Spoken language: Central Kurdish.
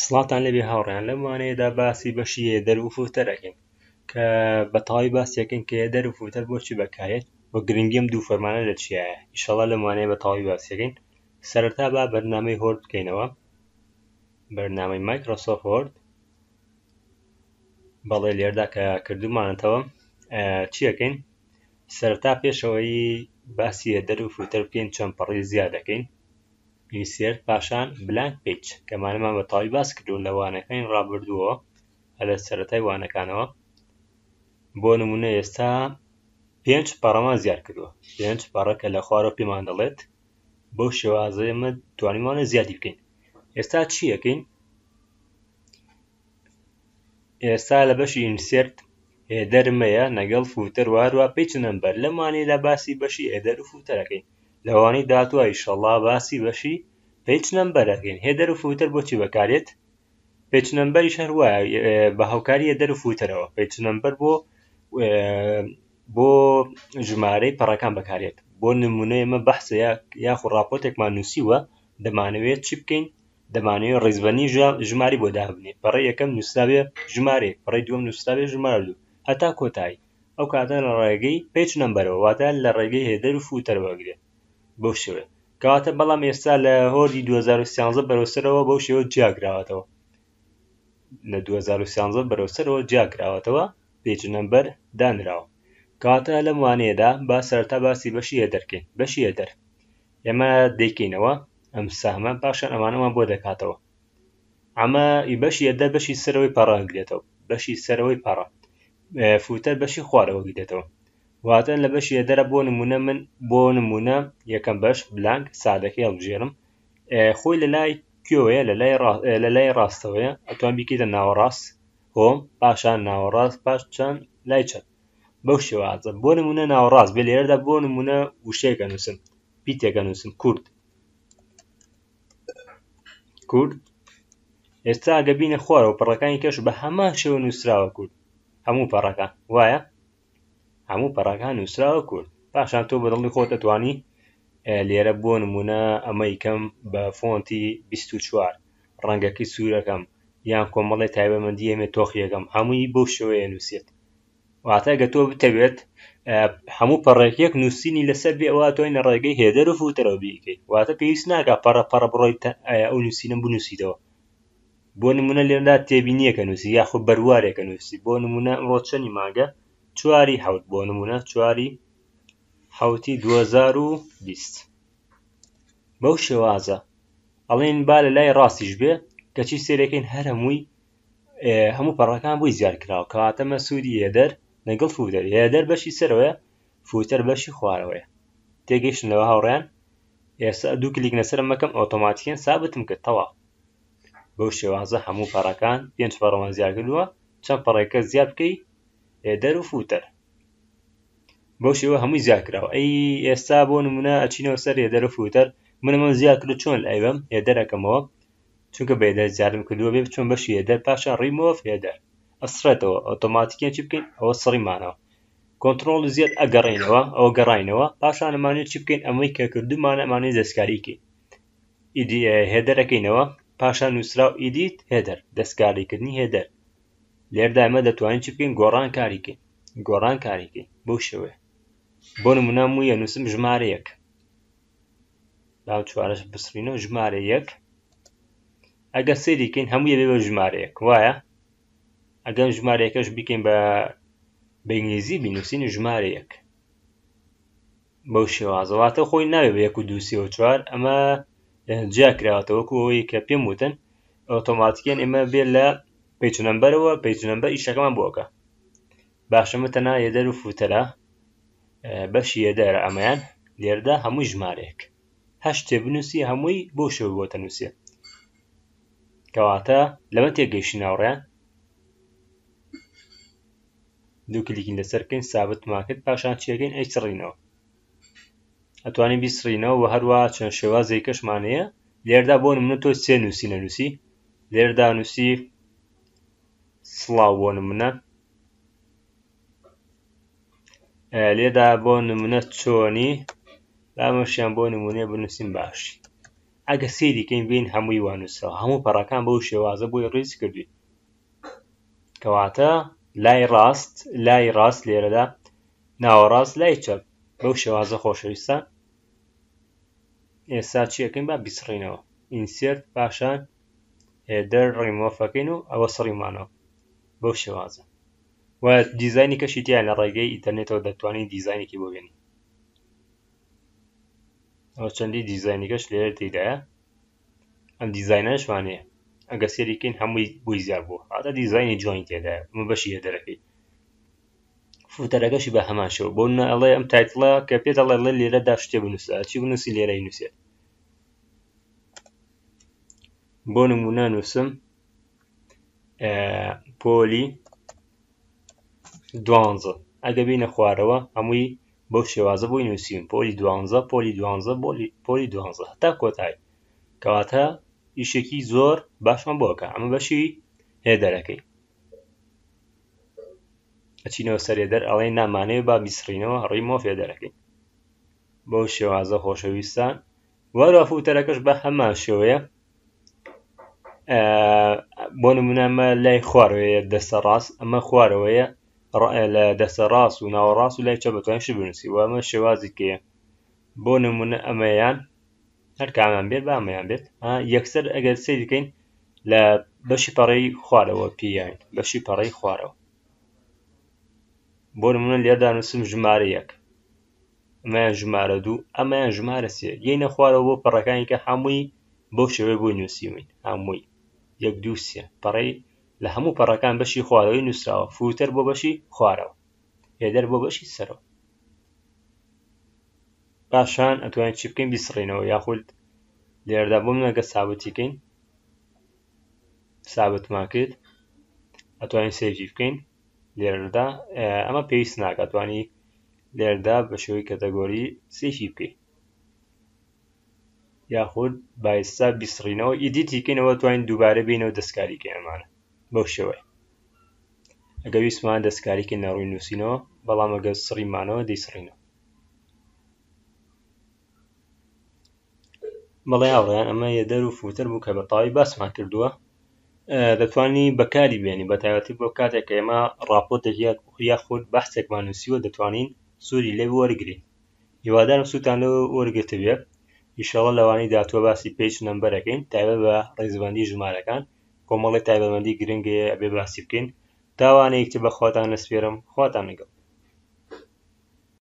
سڵاوتان لێبێ هاوڕێیان لەم وانەیەدا باسی بەشی header و footer ئەکەین کە بە تەواوی باسی ئەکەین کە header و footer بۆچی بەکارێت و گرنگی ئەم دوو فەرمانە لە چیایە ئیشەڵا لەم وانەیە بە تەواوی باسی ئەکەین سەرەتا با بەرنامەی Word بکەینەوە بەرنامەی Microsoft Word بەڵێ لێردا کە کردومانەتەوە چیەکەین سەرەتا پێشەوەی باسی header و footer بکەین چەند پەڕی زیاد دەکەین Insert پاشان Blank Page کە ئەمانەمان بە تەواوی باس کردوون لە وانەکانی ڕابردووە هەر لە سەرەتای وانەکانەوە بۆ نمونە ئێستا پێنج پەڕەمان زیاد کردووە پێنج پەڕە کە لە خوارەوە پێمان دەڵێت بەو شێوازە ئێمە توانیمانە زیادی بکەین ئێستا چی ئەکەین ئێستا لە بەشی Insert header مەیە نەگەڵ footer و هەروە page number لەمانەیەدا باسی بەشی header و footer ەکەین لەوانەی داهاتووە ئیشەڵا باسی بەشی page number ئەکەین header و footer بۆچی بەکارێت page number یش هەر وایە بە هاوکاری header و footer ەوە page number بۆ بۆ ژمارەی پەڕەکان بەکارێت بۆ نمونە ئێمە بەحسە یاخو راپۆرتێکمان نووسیوە دەمانەوێت چی بکەین دەمانەوێت ڕیزبەنی ژماری بۆ دابنێ پەڕەی یەکەم نووسراوێ ژمارەیەک پەڕەی دووەم نووسراوێ ژمارە دوو هەتا کۆتایی ئەو کاتە لە ڕێگەی page number ەوە واتە لە ڕێگەی header و footer ەوە ئەگرێت بەو شێوەیە کەواتە بەڵام ئێستا لە Word ی 2013 بەرەو سەرەوە بەو شێوە جیاکراوەتەوە لە 2013 بەرەو سەرەوە جیاکراوەتەوە page number دانراوە کەواتە لەم وانەیەدا با سەرەتا باسی بەشی header کەین بەشی header ئێمە دەیکەینەوە ئەم سەهمە پاشان ئەمانەمان بۆ دەکاتەوە ئەمە بەشی header بەشی سەرەوەی پەڕە گرێتەوە بەشی سەرەوەی پەڕە footer بەشی خوارەوە گرێتەوە واتە لە بەشی header ە بۆ نمونە من بۆ نمونە یەکەم بەش blank سادەکەی هەڵبژێرم خۆی لە لای کوێوەیە لە لای ڕاستەوەیە ئەتوان بیکەیتە ناوەڕاست home پاشان ناوەڕاست پاش چەند لای چەپ بەو شێوازە بۆ نمونە ناوەڕاست بێ لێرەدا بۆ نمونە وشەیەکە نووسم پیتێکە نووسم کورد کورد ئێستا گە بینە خوارەوە پەڕەکانی کەش بە هەمان شێوە نووسراوە کورد هەموو پەڕەکان وایە هەموو پەڕەکان نووسراوە کورد پاشان تۆ بەدڵی خۆت ئەتوانی لێرە بۆ نمونە ئەمەی کەم بە فۆنتی 24 ڕەنگەکەی سوورەکەم یان کۆمەڵی تایبەمەندی ئەمێ تۆخیەکەم هەمووی بەو شێوەیە نووسێت واتە گە تۆ بتەوێت هەموو پەڕێک یەک نووسینی لەسەر بێ ئەوە تۆی لە ڕێگەی header و footer ەوە بیکەیت واتە پێویست ناکە پەڕە پەڕە بڕۆیت ئەو نووسینە بنووسیتەوە بۆ نمونە لێرەدا تێبینیەکە نووسی یاخود بەروارێکە نووسی بۆ نمونە ئەمڕۆ چەنی مانگە چواری حەوت بۆ نمونە چواری حەوتی 2020 بەو شێوازە ئەڵێن با لە لای ڕاستیش بێ کەچی سێرەکەین هەر هەمووی هەموو پەڕەکان بۆی زیاد کراوە کەواتە مە سوودی header لەگەڵ footer header بەشی سەرەوەیە footer بەشی خوارەوەیە تێگەیشتن لەوە هاوڕێیان ئێستا دوو کلیک لەسەر مەکەم ئۆتۆماتیکەن سابتم کرد تەواو بەو شێوازە هەموو پەڕەکان پێنج پەڕەمان زیاد کردووە چەند پەڕێکە زیاد بکەی header و footer بەو شێوە هەمووی زیاد کراوە ئەی ئێستا بۆ نمونە ئەچینەوە سەر header و footer من ئەمەم زیاد کرد چۆن ئەیبەم header ەکەمەوە چونکە بە header زیادم کردووە بێ بچۆن بەشی header پاشان ڕیمۆڤ هێدەر ئەسڕێتەوە ئۆتۆماتیکیان چی بکەین ئەوە سڕیمانەوە control Z ئەگەڕێینەوە ئەوە گەڕاینەوە پاشان ئەمانەوێت چی بکەین ئەمەی کە کردومانە ئەمانەی دەستکاری کەین header ەکەینەوە پاشان نووسراو edit header دەستکاریکردنی header لێردا ئێمە دەتوانین چی بکەین گۆڕان کاریکەین گۆڕان کاریکەین بەو شێوەیە بۆ نمونە موویە نووسم ژمارە یەک با چوارەش بسڕینەوە ژمارە یەک ئەگەر سەیری کەین هەموو یەبێ بە ژمارە یەک وایە ئەگەر ژمارە یەکەش بیکەین بە بە ئینگلیزی بینوسین ژمارە یەک بەو شێوازە واتە خۆی ناوێ بە یەک و دوو سێ و چوار ئەمە جیا کراوەتە وەکو ئەوەی کە پێم وتن ئۆتۆماتیکیان ئێمە بێ لە page number ەوە page number ئیشەکەمان بۆکە باشە مە تەنها header و footer ە بەشی header ە ئەمەیان لێرەدا هەمووی ژمارەیەک هەر شتێ بنووسی هەمووی بۆ شێوە بۆتە نووسێ کەواتە لەمە تێگەیشتین هاوڕێیان دوو کلیکین لەسەر بکەین سابتمان کرد پاشان چیەکەین ئەی سڕینەوە ئەتوانین بیسڕینەوە و هەروە چەند شێوازێک کەشمان هەیە لێردا بۆ نمونە تۆ سێ نووسی نەنووسی لێردا نووسی سڵاو بۆ نمونە لێدا بۆ نمونە چۆنی بامەشیان بۆ نمونە بنووسین باشی. ئەگە سەیری کەین بین هەمووی وا نووسراوە، هەموو پەڕەکان بەو شێوازە بۆی ڕیز کردوین. کەواتە لای ڕاست، لای ڕاست لێرەدا، ناوەڕاست لای چەپ، بەو شێوازە خۆشەویستان. ئێستا چی ئەکەین؟ با بیسڕینەوە. ئینسێرت پاشان هێدەر ڕیمۆفەکەین و ئەوە سڕیمانەوە بەو شێوازە. و دیزاینی کەشی تیا لە ڕێگەی ئینتەرنێتەوە دەتوانین دیزاینێکی بۆ بێنین. ئەوە چەندی دیزاینی کەش لێرە تێدایە. ئەم دیزاینەشمان هەیە، ئەگە سێری کەین هەمووی بۆی زیاد بووە، هاتە دیزاینی جوانی تێدایە. ئەمە بەشی header ەکەی، footer ەکەشی بە هەمان شێوە. بۆ نمونە ئەڵێ ئەم title ە کە پێت ئەڵێ ئەڵێ لێرەدا شتێ بنووسە، چی بنووسی لێرەی نووسێت. بۆ نمونە نووسم پۆلی دوانزە، ئەگە بینە خوارەوە هەمووی بەو شێوازە بۆی نووسیم، پۆلی دوانزە، پۆلی دوانزە، پۆلی دوانزە هەتا کۆتایی. کەواتە ئیشێکی زۆر باشمان بۆ ئەکا. ئەمە بەشی header ەکەی. ئەچینەوە سەر header، ئەڵێ نامانەوێ با بیسڕینەوە، ڕیمۆف هێدەرەکەی بەو شێوازە خۆشەویستان. وەرە footer ەکەش بە هەمان شێوەیە. بۆ نمونە ئەمە لای خوارەوەیە دەستە ڕاست، ئەمە خوارەوەیە لە دەستە ڕاست و ناوەڕاست و لای چەپ بەتوانین شت بنووسی. و ئەمە شێوازی کەیە. بۆ نمونە ئەمەیان هەر کامیان بێت با ئەمەیان بێت. یەکسەر ئەگەر سەیر بکەین لە بەشی پەڕەی خوارەوە پێیان، بەشی پەڕەی خوارەوە. بۆ نمونە لێرەدا نووسم ژمارە یەک، ئەمەیان ژمارە دوو، ئەمەیان ژمارە سێ. یەینە خوارەوە بۆ پەڕەکانی کە هەمووی بەو شێوەیە بۆی نووسیوین، هەمووی یەک دوو سێ پەڕەی لە هەموو پەڕەکان بەشی خوارەوەی نووسراوە. footer بۆ بەشی خوارەوە، header بۆ بەشی سەرەوە. پاشان ئەتوانین چی بکەین؟ بیسڕینەوە، یاخود لێرەدا بۆ من ئەگەر سابتی کەین، سابتمان کرد، ئەتوانین save ی بکەین لێرەدا. ئەمە پێویست ناکات، ئەتوانی لێرەدا بە شێوەی category save ی بکەین، یاخود بایستا بیسڕینەوە edit ی کەینەوە، توانین دووبارە بینەوە دەستکاری کەین ئەمانە بەو شێوەیە. ئەگەر ویستمان دەستکاری کەین لە ڕووی نووسینەوە، بەڵام ئەگەر سڕیمانەوە دەیسڕینەوە. بەڵێ هاوڕێیان، ئەمە header و footer بوو کە بە تەواوی باسمان کردووە. دەتوانی بەکاری بێنی بە تایبەتی بۆ کاتێک کە ئێمە ڕاپۆرتێک یاخود بەحسێکمان نووسیوە، دەتوانین سوودی لێ وەرگین. هیوادارم سوودتان لێ وەرگرتبێت. ئیشەڵڵا لەوانەی داهاتووە باسی page number ەکەین، تایبەت بە ڕیزبەندی ژمارەکان. کۆمەڵی تایبەتمەندی گرنگەیە ئەبێ باسی بکەین. تاوانەیەکی تر بە خواتان نەسپێرم، خواتان لەگەڵ.